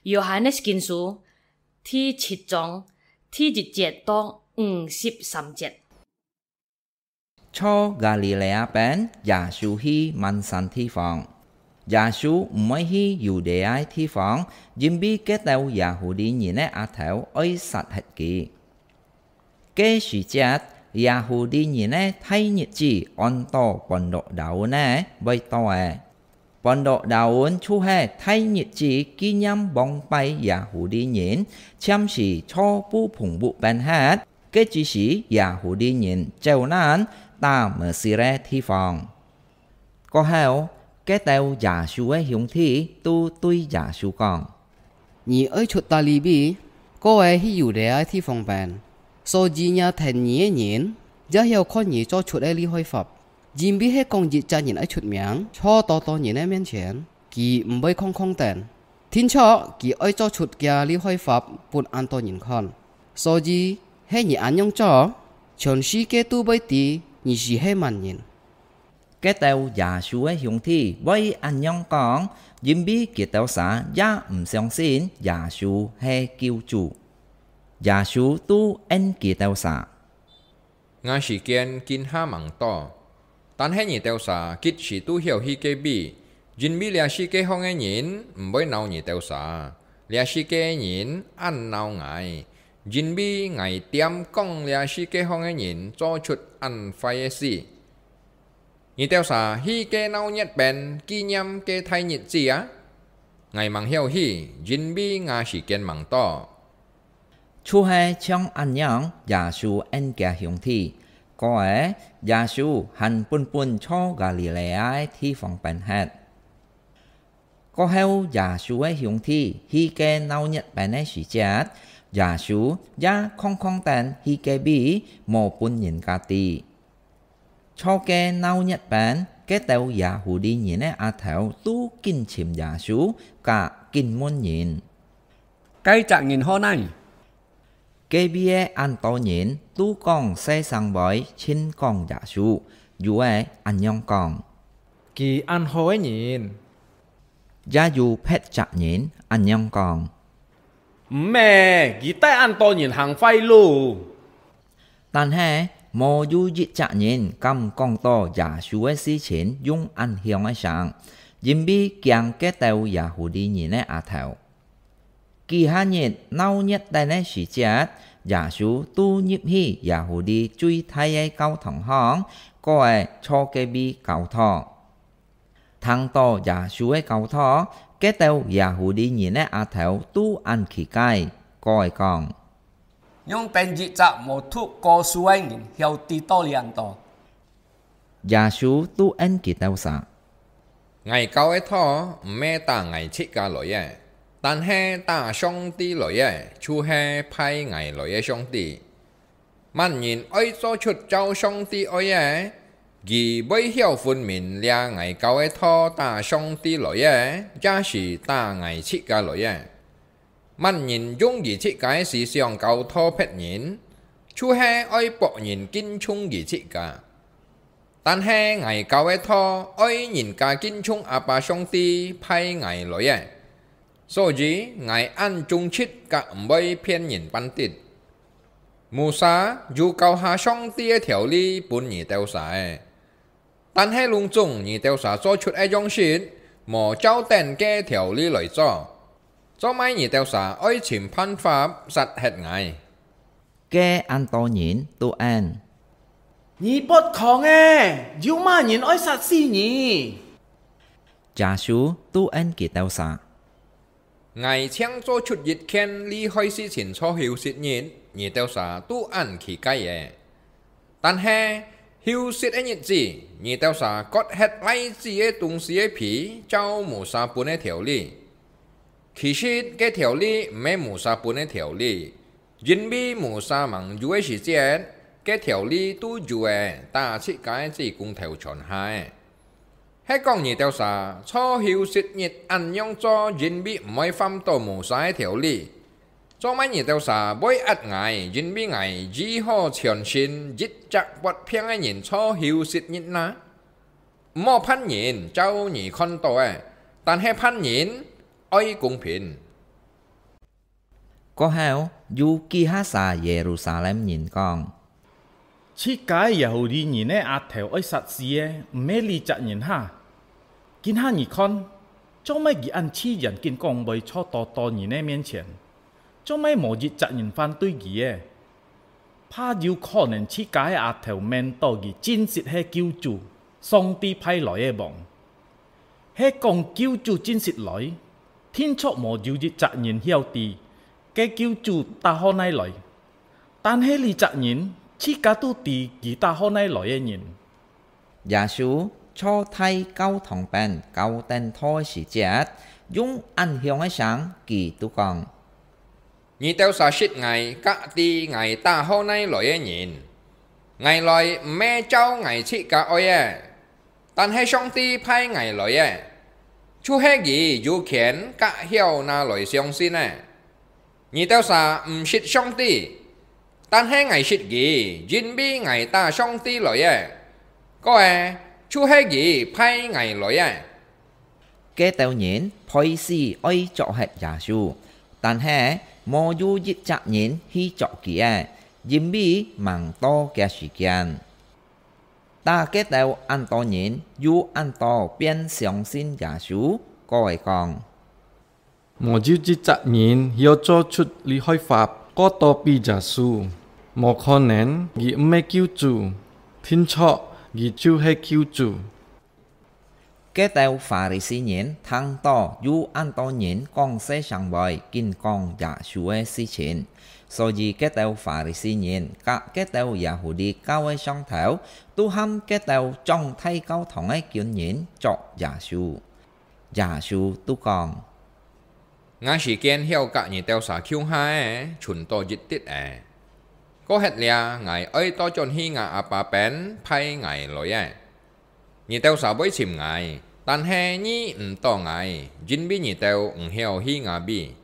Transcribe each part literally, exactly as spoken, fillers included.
約翰个福音書第七章第一節到五十三節。在加里肋亞邊，耶穌去萬山地方。耶穌毋會去猶太个地方，因為該兜耶戶利人个額頭愛殺忒佢。 該時節，耶戶利人个大日子安到Pon Lok Daun呢，會到了。Pon Lok Daun就係大日子紀念亡敗耶戶利人，暫時在布棚屋邊歇，該只是耶戶利人走難打Mesir个地方。 過後，該兜耶穌个兄弟都對耶穌講：「你愛出哪位？過去去猶太个地方邊，所以若跈你个人，也曉看你做出个這壞法。因為係講一隻人愛出名，在多多人个面前，佢毋會空空等。定著佢愛做出厥這壞法分恁多人看。所以，係你恁樣做，全世界都會知你就係麼人。」 該兜耶穌个兄弟會恁樣講，因為佢兜儕也毋相信耶穌係救主。耶穌都應佢兜儕：「吾時間今下吂到，但係你兜儕即時都曉去該位，因為這世界項个人毋會摎你兜儕，這世界个人恁摎𠊎，因為𠊎恬講這世界項个人做出恁壞个事。 你兜儕去該鬧熱邊紀念該大日子啊！𠊎吂曉去，因為吾時間吂到。」就係像恁樣，耶穌應厥兄弟。過後，耶穌還本本在加里肋亞个地方邊歇。 過後，耶穌个兄弟去該鬧熱邊个時節，耶穌也空空等去該位，無分人家知。在該鬧熱邊，該兜耶戶利人个額頭都緊尋耶穌，甲緊問人：「該隻人好哪？」 該位个恁多人都講細聲會盡講耶穌，有个恁樣講：「佢恁好个人。」也有別隻人恁樣講：「毋係，佢帶恁多人行壞路。」但係，無有一隻人敢講到耶穌个事情用恁響个聲，因為驚該兜耶戶利人个額頭。 幾下日鬧熱等个時節，耶穌都入去耶戶利最大个教堂項，過後在該位教導。聽到耶穌个教導，該兜耶戶利人个額頭都恁奇怪，過後講：「仰般一隻無讀過書个人曉知到這恁多？」 耶穌都應佢兜儕：「𠊎教个道毋係打𠊎自家來个，但係打上帝來个，就係派𠊎來个上帝。麼人愛做出照上帝愛个，佢會曉分明這𠊎教个道打上帝來个，也係打𠊎自家來个。 麼人用佢自家个思想教導別人，就係愛博人敬重佢自家。但係𠊎教个道，愛人家敬重阿爸上帝派𠊎來个，所以𠊎恁忠直，甲毋會騙人半滴。」 「摩西有教下上帝个條例分你兜儕，但係攏總你兜儕做出个樣式，無照等該條例來做，做麼你兜儕愛尋辦法殺忒𠊎？」該恁多人都應：「你發狂个！有麼人愛殺死你？」耶穌都應佢兜儕： 「𠊎淨做出一件利害事情在休息日，你兜儕都恁奇怪个。但係，休息个日子，你兜儕割忒倈子个東西个皮，照摩西分个條例。其實，該條例毋係摩西分个條例，因為摩西吂有个時節，該條例都有个，打自家个子公頭傳下个。 係講你兜儕在休息日恁樣做，因為毋愛犯到摩西个條例。做麼你兜儕會壓𠊎，因為𠊎醫好全身一隻發病个人在休息日哪？毋好辦人照你看到个，但係辦人愛公平。」過後，有幾下儕耶路撒冷人講：「自家个耶戶利人个額頭愛殺死个，毋係這隻人哈？今下你看，做麼佢恁自然緊講會坐到到人个面前？做麼無一隻人反對佢个？怕有可能自家个額頭面到佢真實係救主，上帝派來个王。係講救主真實來，定著無有一隻人曉得，該救主打好哪來。但係這隻人，自家都知佢打好哪來个人。」耶穌坐在教堂邊教等到个時節，用恁響个聲，佢就講：「你兜儕識𠊎，甲知𠊎打好哪來个人。𠊎來毋係照𠊎自家愛个，但係上帝派𠊎來个，就係佢有權甲曉拿來相信个。你兜儕毋識上帝，但係𠊎識佢，因為𠊎打上帝來个，過个就係佢派𠊎來个。」該兜人背時愛捉核耶穌，但係無有一隻人去捉佢个，因為吂到厥時間。打該兜恁多人，有恁多便相信耶穌，過个講：「無有一隻人曉做出這開法過到比耶穌，無可能佢毋係救主，定著佢就係救主。」該兜法利賽人聽到有恁多人講細聲話緊講耶穌个事情，所以該兜法利賽人甲該兜耶戶利教个上頭，都喊該兜掌大教堂个軍人捉耶穌。耶穌就講：「𠊎時間曉甲你兜儕共下个，賰到一滴仔。過核這，𠊎愛倒轉去吾阿爸邊派𠊎來个。你兜儕會尋𠊎，但係遇毋到𠊎，因為你兜毋曉去吾位。」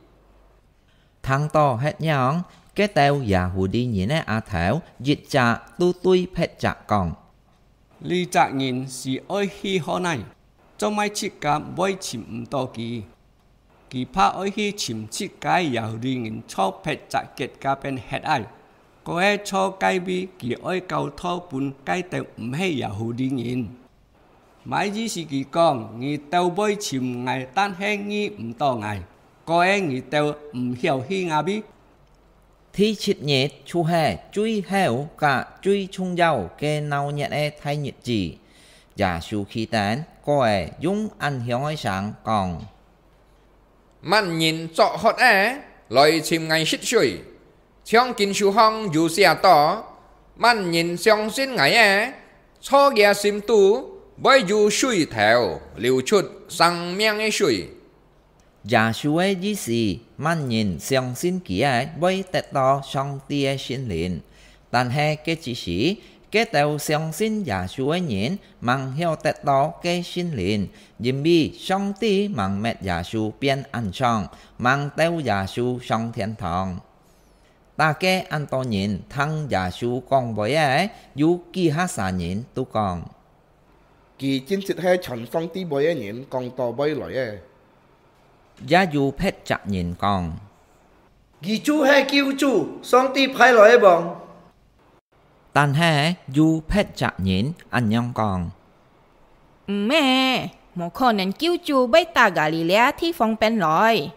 聽到核樣，該兜耶戶利人个額頭一隻都對別隻講：「這隻人係愛去好哪？做麼自家會尋毋到佢？佢怕愛去尋自家耶戶利人坐別隻國家邊核愛，過个坐該位佢愛教導分該兜毋係耶戶利人。」 麼意思佢講：「你兜會尋𠊎，但係遇毋到𠊎，過个你兜毋曉去吾位。」第七日就係最後甲最重要个鬧熱个大日子。耶穌企等，過个用恁響个聲講： 「麼人作渴个，來尋𠊎食水。像經書項有寫到：『麼人相信𠊎个，在厥心肚會有水頭流出生命个水。』」耶穌个意思，麼人相信佢个，會得到上帝个聖靈。 但係該之時，該兜相信耶穌个人吂曉得到該聖靈，因為上帝吂搣耶穌變恁像，吂兜耶穌上天堂。逐个恁多人聽耶穌講話个，有幾下儕人都講：「佢真實係傳上帝話个人講到會來个。」也有別隻人講：「佢就係救主，上帝派來个王。」 但係有別隻人恁樣講：「毋係，無可能救主會打加利利亞地方邊來。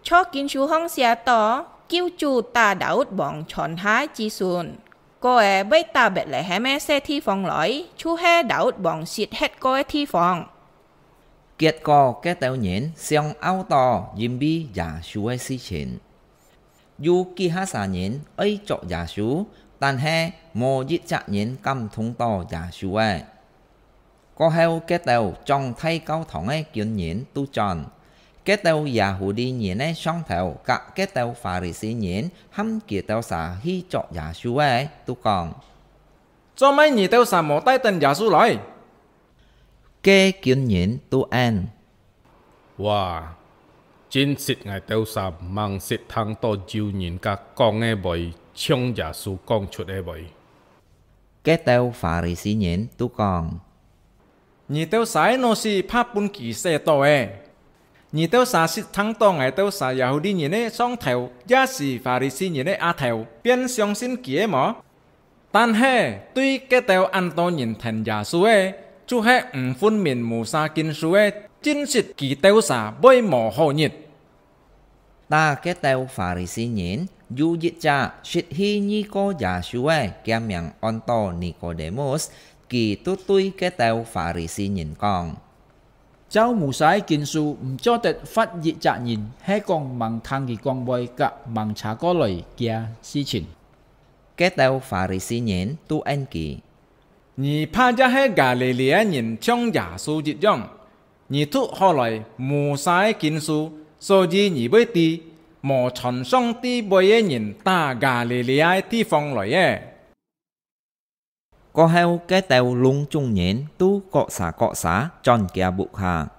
在經書項寫到，救主打大衛王傳下个子孫，過个會打伯利恆个細地方來，就係大衛王食核過个地方。」 結果該兜人相拗到因為耶穌个事情。有幾下儕人愛捉耶穌，但係無一隻人敢動到耶穌个。過後，該兜掌大教堂个軍人都轉，該兜耶戶利人个上頭甲該兜法利賽人喊佢兜儕去捉耶穌个，都講：「做麼你兜儕無帶等耶穌來？」 該軍人都應：「哇，真實𠊎兜儕吂識聽到有人甲講个話像耶穌講出个話。」該兜法利賽人都講：「你兜儕个腦屎怕分佢洗到个。」你兜儕識聽到𠊎兜儕Yahudi人个上頭，也係法利賽人个下頭，便相信佢个無？但係對該兜恁多人跈耶穌个，就係毋分明Musa經書个，真實佢兜儕會無好日。」打該兜法利賽人，有一隻識去遇過耶穌个，厥名安到Nikodemus，佢就對該兜法利賽人講：「照Musa个經書，毋做得罰一隻人，係講吂聽佢講話，甲吂查過來厥事情。」該兜法利賽人就應佢：「你怕也係加利利个人像耶穌一樣？你讀好來Musa个經書，所以你會知，無傳上帝話个人打加利利个地方來个。」過後，該兜攏總人都各儕各儕轉厥屋下。